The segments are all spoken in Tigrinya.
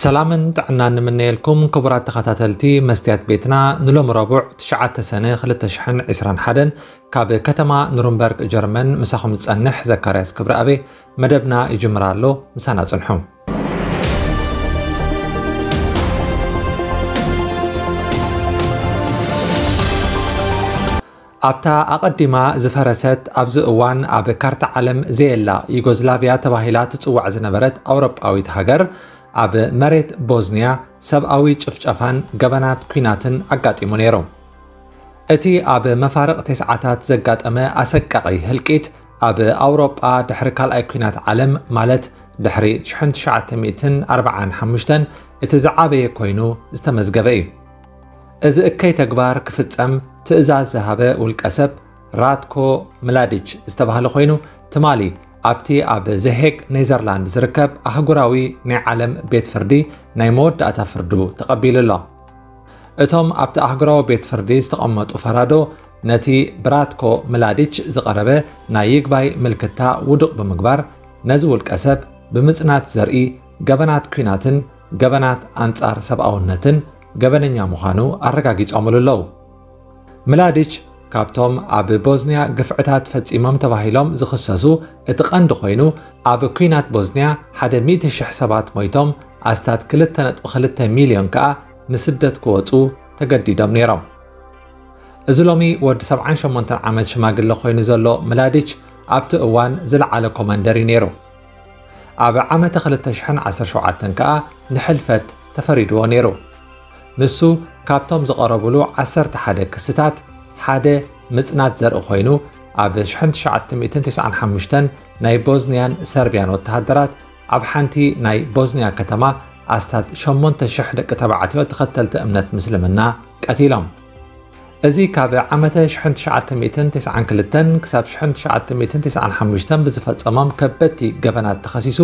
ሰላምን ጥዕናን ንምነየልኩም ክቡራት ተኸታተልቲ መስትያት ቤትና። ንሎሚ ረቡዕ ትሽዓተ ሰነ ክልተ ሽሕን ዕስራን ሓደን ካብ ከተማ ኑርንበርግ ጀርመን ምሳኹም ዝጸንሕ ዘካርያስ ክብረኣበ መደብና ይጅምር ኣሎ። ምሳና ጽንሑ። ኣብታ ኣቐዲማ ዝፈረሰት፣ ኣብዚ እዋን ኣብ ካርታ ዓለም ዘየላ ዩጎዝላቪያ ተባሂላ ትጽዋዕ ዝነበረት ኣውሮጳዊት ሃገር፣ ኣብ መሬት ቦዝንያ ሰብኣዊ ጭፍጨፋን ገበናት ኲናትን ኣጋጢሙ ነይሩ። እቲ ኣብ መፋርቕ ተስዓታት ዘጋጠመ ኣሰቃቒ ህልቂት፣ ኣብ ኣውሮጳ ድሕሪ ካልኣይ ኲናት ዓለም፣ ማለት ድሕሪ ሽሕን ትሽዓተ ሚእትን ኣርባዓን ሓሙሽተን፣ እቲ ዝዓበየ ኮይኑ ዝተመዝገበ እዩ። እዚ እከይ ተግባር ክፍጸም ትእዛዝ ዝሃበ ውልቀ ሰብ ራትኮ ምላዲች ዝተባህለ ኮይኑ፣ ትማሊ ኣብቲ ኣብ ዘሄግ ኔዘርላንድ ዝርከብ ኣህጉራዊ ናይ ዓለም ቤት ፍርዲ ናይ መወዳእታ ፍርዱ ተቐቢሉ ኣሎ። እቶም ኣብቲ ኣህጉራዊ ቤት ፍርዲ ዝተቐመጡ ፈራዶ፣ ነቲ ብራትኮ ምላዲች ዝቐረበ ናይ ይግባይ ምልክታ ውዱቕ ብምግባር፣ ነዚ ውልቀ ሰብ ብምጽናት ዘርኢ ገበናት ኲናትን ገበናት ኣንጻር ሰብኣውነትን ገበነኛ ምዃኑ ኣረጋጊጾምሉ ኣለዉ። ምላዲች ካብቶም ኣብ ቦዝንያ ግፍዕታት ፈጺሞም ተባሂሎም ዝኽሰሱ እቲ ቀንዲ ኮይኑ፣ ኣብ ኲናት ቦዝንያ ሓደ ሚእቲ ሽሕ ሰባት ሞይቶም፣ ኣስታት ክልተ ነጥቢ ክልተ ሚልዮን ከኣ ንስደት ክወጹ ተገዲዶም ነይሮም። እዚ ሎሚ ወዲ ሰብዓን ሸሞንተን ዓመት ሽማግለ ኮይኑ ዘሎ ምላዲች፣ ኣብቲ እዋን ዝለዓለ ኮማንደር እዩ ነይሩ። ኣብ ዓመተ ክልተ ሽሕን ዓሰርተ ሸውዓተን ከኣ ንሕልፈት ተፈሪድዎ ነይሩ። ንሱ ካብቶም ዝቐረቡሉ ዓሰርተ ሓደ ክስታት ሓደ ምጽናት ዘርኢ ኮይኑ፣ ኣብ ሽሕን ትሽዓተ ሚእትን ተስዓን ሓሙሽተን ናይ ቦዝንያን ሰርብያን ወተሃደራት ኣብ ሓንቲ ናይ ቦዝንያ ከተማ ኣስታት ሸሞንተ ሽሕ ደቂ ተባዕትዮ ተኸተልቲ እምነት ምስልምና ቀቲሎም። እዚ ካብ ዓመተ ሽሕን ትሽዓተ ሚእትን ተስዓን ክልተን ክሳብ ሽሕን ትሽዓተ ሚእትን ተስዓን ሓሙሽተን ብዝፈጸሞም ከበድቲ ገበናት ተኸሲሱ፣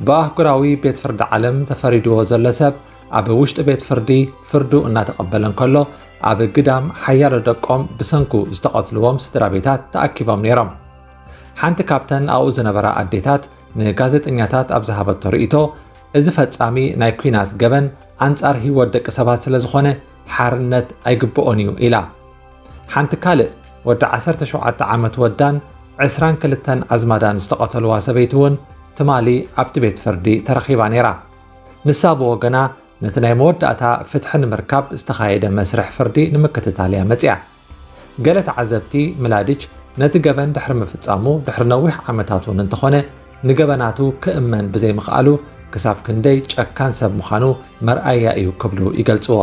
ብኣህጉራዊ ቤት ፍርዲ ዓለም ተፈሪድዎ ዘሎ ሰብ፣ ኣብ ውሽጢ ቤት ፍርዲ ፍርዱ እናተቐበለ እንከሎ፣ ኣብ ግዳም ሓያሎ ደቆም ብሰንኩ ዝተቐትልዎም ስድራ ቤታት ተኣኪቦም ነይሮም። ሓንቲ ካብተን ኣብኡ ዝነበራ ኣዴታት ንጋዜጠኛታት ኣብ ዝሃበቶ ርእይቶ፣ እዚ ፈጻሚ ናይ ኲናት ገበን ኣንጻር ህይወት ደቂ ሰባት ስለ ዝኾነ፣ ሓርነት ኣይግብኦን እዩ ኢላ። ሓንቲ ካልእ ወዲ ዓሰርተ ሸውዓተ ዓመት ወዳን ዕስራን ክልተን ኣዝማዳን ዝተቐተልዋ ሰበይቲ እውን ትማሊ ኣብቲ ቤት ፍርዲ ተረኺባ ነይራ። ንሳ ብወገና፣ ነቲ ናይ መወዳእታ ፍትሒ ንምርካብ ዝተኻየደ መስርሕ ፍርዲ ንምክትታል እያ መጺኣ። ገለ ተዓዘብቲ፣ ምላዲች ነቲ ገበን ድሕሪ ምፍጻሙ ድሕሪ ነዊሕ ዓመታት እውን እንተኾነ፣ ንገበናቱ ክእመን ብዘይምኽኣሉ፣ ክሳብ ክንደይ ጨካን ሰብ ምዃኑ መርኣያ እዩ ክብሉ ይገልጽዎ።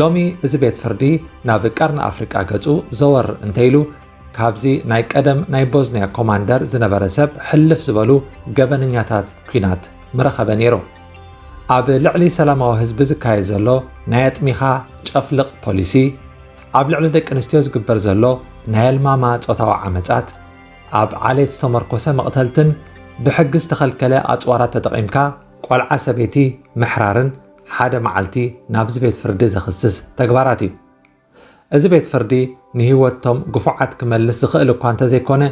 ሎሚ እዚ ቤት ፍርዲ ናብ ቀርኒ ኣፍሪቃ ገጹ ዘወር እንተኢሉ፣ ካብዚ ናይ ቀደም ናይ ቦዝንያ ኮማንደር ዝነበረ ሰብ ሕልፍ ዝበሉ ገበነኛታት ኲናት ምረኸበ ነይሩ። ኣብ ልዕሊ ሰላማዊ ህዝቢ ዝካየድ ዘሎ ናይ ኣጥሚኻ ጨፍልቕ ፖሊሲ፣ ኣብ ልዕሊ ደቂ ኣንስትዮ ዝግበር ዘሎ ናይ ኣልማማ ጾታዊ ዓመጻት፣ ኣብ ዓሌት ዝተመርኮሰ መቕተልትን ብሕጊ ዝተኸልከለ ኣጽዋራት ተጠቒምካ ቆልዓ ሰበይቲ ምሕራርን ሓደ መዓልቲ ናብዚ ቤት ፍርዲ ዘኽስስ ተግባራት እዩ። እዚ ቤት ፍርዲ ንህይወቶም ግፉዓት ክመልስ ዝኽእል እኳ እንተዘይኮነ፣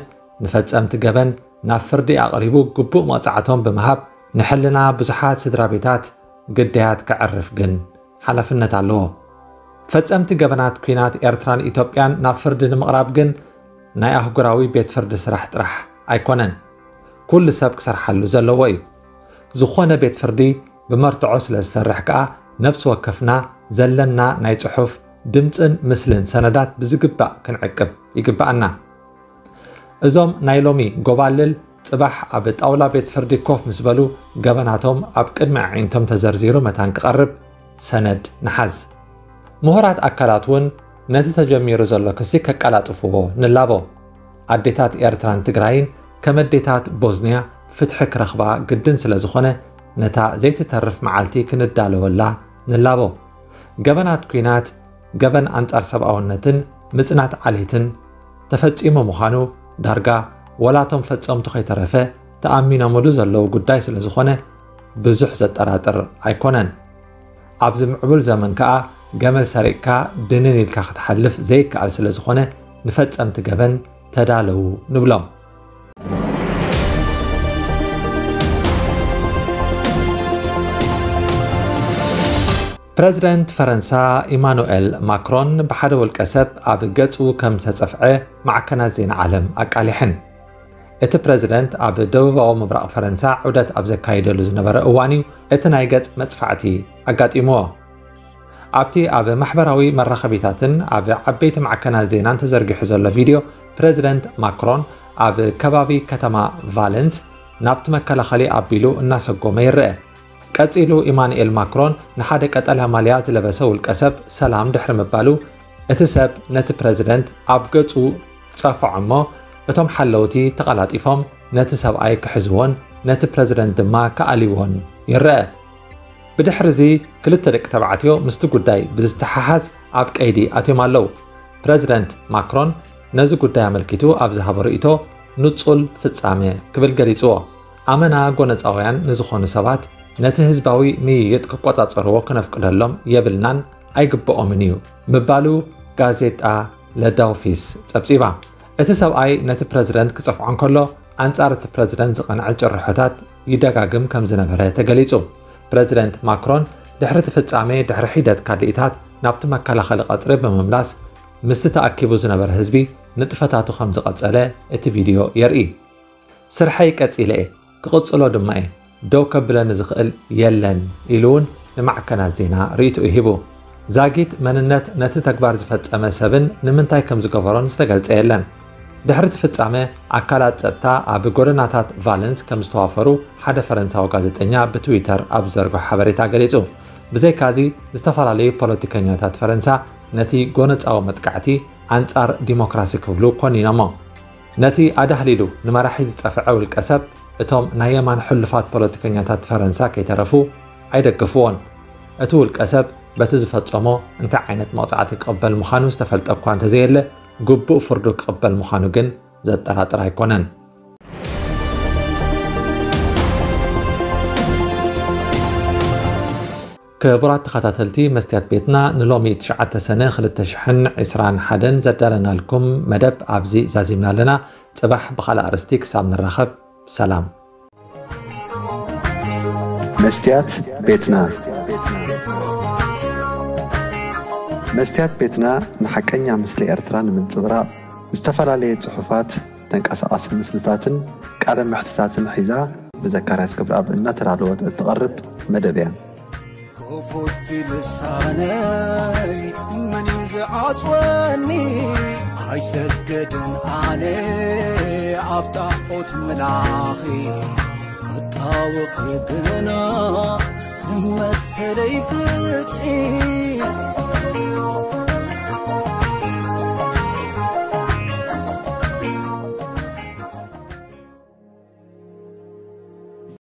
ንፈጸምቲ ገበን ናብ ፍርዲ ኣቕሪቡ ግቡእ መቕጻዕቶም ብምሃብ፣ ንሕልና ብዙሓት ስድራ ቤታት ግዳያት ከዕርፍ ግን ሓላፍነት ኣለዎ። ፈጸምቲ ገበናት ኲናት ኤርትራን ኢትዮጵያን ናብ ፍርዲ ንምቕራብ ግን ናይ ኣህጉራዊ ቤት ፍርዲ ስራሕ ጥራሕ ኣይኮነን፣ ኩሉ ሰብ ክሰርሓሉ ዘለዎ እዩ። ዝኾነ ቤት ፍርዲ ብመርትዖ ስለ ዝሰርሕ ከኣ፣ ነፍሲ ወከፍና ዘለና ናይ ጽሑፍ፣ ድምጽን ምስልን ሰነዳት ብዝግባእ ክንዕቅብ ይግብኣና። እዞም ናይ ሎሚ ጎባልል፣ ጽባሕ ኣብ ጣውላ ቤት ፍርዲ ኮፍ ምስ በሉ፣ ገበናቶም ኣብ ቅድሚ ኣዒንቶም ተዘርዚሩ መታን ክቐርብ ሰነድ ንሓዝ። ምሁራት ኣካላት እውን ነቲ ተጀሚሩ ዘሎ ክሲ ከቀላጥፍዎ ንላቦ። ኣዴታት ኤርትራን ትግራይን ከም ኣዴታት ቦዝንያ ፍትሒ ክረኽባ ግድን ስለ ዝኾነ፣ ነታ ዘይትተርፍ መዓልቲ ክንዳለወላ ንላቦ። ገበናት ኲናት፣ ገበን ኣንጻር ሰብኣውነትን ምጽናት ዓሌትን ተፈጺሙ ምዃኑ ዳርጋ ወላቶም ፈጸምቱ ከይተረፈ ተኣሚኖምሉ ዘለዉ ጉዳይ ስለ ዝኾነ፣ ብዙሕ ዘጠራጥር ኣይኮነን። ኣብዚ ምዕቡል ዘመን ከኣ፣ ገመል ሰሪቕካ ድንን ኢልካ ክትሓልፍ ዘይከኣል ስለ ዝኾነ፣ ንፈጸምቲ ገበን ተዳለዉ ንብሎም። ፕረዚደንት ፈረንሳ ኢማኑኤል ማክሮን ብሓደ ውልቀ ሰብ ኣብ ገጹ ከም ዝተጸፍዐ ማዕከናት ዜና ዓለም ኣቃሊሐን። እቲ ፕረዚደንት ኣብ ደቡባዊ ምብራቕ ፈረንሳ ዑደት ኣብ ዘካይደሉ ዝነበረ እዋን እዩ እቲ ናይ ገጽ መጽፋዕቲ ኣጋጢምዎ። ኣብቲ ኣብ ማሕበራዊ መራኸቢታትን ኣብ ዓበይቲ ማዕከናት ዜናን ተዘርጊሑ ዘሎ ቪድዮ፣ ፕረዚደንት ማክሮን ኣብ ከባቢ ከተማ ቫለንስ ናብቲ መከላኸሊ ኣቢሉ እናሰጎመ ይረአ። ቀጺሉ ኢማኑኤል ማክሮን ንሓደ ቀጠልያ ማልያ ዝለበሰ ውልቀ ሰብ ሰላም ድሕሪ ምባሉ፣ እቲ ሰብ ነቲ ፕረዚደንት ኣብ ገጹ ጸፍዖ እሞ፣ እቶም ሓለውቲ ተቐላጢፎም ነቲ ሰብኣይ ክሕዝዎን ነቲ ፕረዚደንት ድማ ክኣልይዎን ይረአ። ብድሕርዚ ክልተ ደቂ ተባዕትዮ ምስቲ ጉዳይ ብዝተሓሓዝ ኣብ ቀይዲ ኣትዮም ኣለዉ። ፕረዚደንት ማክሮን ነዚ ጉዳይ ኣመልኪቱ ኣብ ዝሃቦ ርእይቶ፣ ንጹል ፍጻመ ክብል ገሊጽዎ። ኣመና ጎነጻውያን ንዝኾኑ ሰባት ነቲ ህዝባዊ ምይይጥ ክቆጻጸርዎ ክነፍቅደሎም የብልናን ኣይግብኦምን እዩ ምባሉ ጋዜጣ ለዳውፊስ ጸብጺባ። እቲ ሰብኣይ ነቲ ፕረዚደንት ክጸፍዖ እንከሎ፣ ኣንጻር እቲ ፕረዚደንት ዝቐንዐ ጭርሖታት ይደጋግም ከም ዝነበረ ተገሊጹ። ፕረዚደንት ማክሮን ድሕሪ እቲ ፍጻሜ፣ ድሕሪ ሒደት ካልኢታት ናብቲ መከላኸሊ ቀጽሪ ብምምላስ፣ ምስቲ ተኣኪቡ ዝነበረ ህዝቢ ንጥፈታቱ ከም ዝቐጸለ እቲ ቪድዮ የርኢ። "ስርሐይ ቀጺለ እየ፣ ክቕጽሎ ድማ እየ፣ ደው ከብለኒ ዝኽእል የለን" ኢሉ እውን ንማዕከናት ዜና ርእይትኡ ሂቡ። ዛጊት መንነት ነቲ ተግባር ዝፈጸመ ሰብን ንምንታይ ከም ዝገበሮን ዝተገልጸ የለን። ድሕሪ እቲ ፍጻመ፣ ኣካላት ጸጥታ ኣብ ጎደናታት ቫለንስ ከም ዝተዋፈሩ ሓደ ፈረንሳዊ ጋዜጠኛ ብትዊተር ኣብ ዝዘርግሖ ሓበሬታ ገሊጹ። ብዘይካዚ፣ ዝተፈላለዩ ፖለቲከኛታት ፈረንሳ ነቲ ጎነጻዊ መጥቃዕቲ ኣንጻር ዲሞክራሲ ክብሉ ኮኒኖሞ። ነቲ ኣዳህሊሉ ንመራሒ ዝጸፍዐ ውልቀ ሰብ፣ እቶም ናይ የማን ሕሉፋት ፖለቲከኛታት ፈረንሳ ከይተረፉ ኣይደግፍዎን። እቲ ውልቀ ሰብ በቲ ዝፈጸሞ እንታይ ዓይነት መቕጻዕቲ ክቕበል ምዃኑ ዝተፈልጠ እኳ እንተዘየለ፣ ግቡእ ፍርዱ ክቕበል ምዃኑ ግን ዘጠራጥር ኣይኮነን። ክቡራት ተኸታተልቲ መስትያት ቤትና፣ ንሎሚ ትሽዓተ ሰነ ክልተ ሽሕን ዕስራን ሓደን ዘዳለናልኩም መደብ ኣብዚ ዛዚምና ኣለና። ጽባሕ ብኻልእ ኣርእስቲ ክሳብ ንራኸብ፣ ሰላም። መስትያት ቤትና። መስትያት ቤትና ንሓቀኛ ምስሊ ኤርትራ ንምንጽብራቕ፣ ዝተፈላለየ ጽሑፋት፣ ተንቀሳቓሲ ምስልታትን ቃለ መሕትታትን ሒዛ፣ ብዘካርያስ ክብረኣብ እናተዳለወት እትቐርብ መደብ እያ። ክፉት ልሳነይ መን እዩ ዝዓጽወኒ? ኣይሰገድን ኣነ ኣብ ጣዖት ምላኺ፣ ክጣወኺ ግና ንመሰለይ ፍትሒ።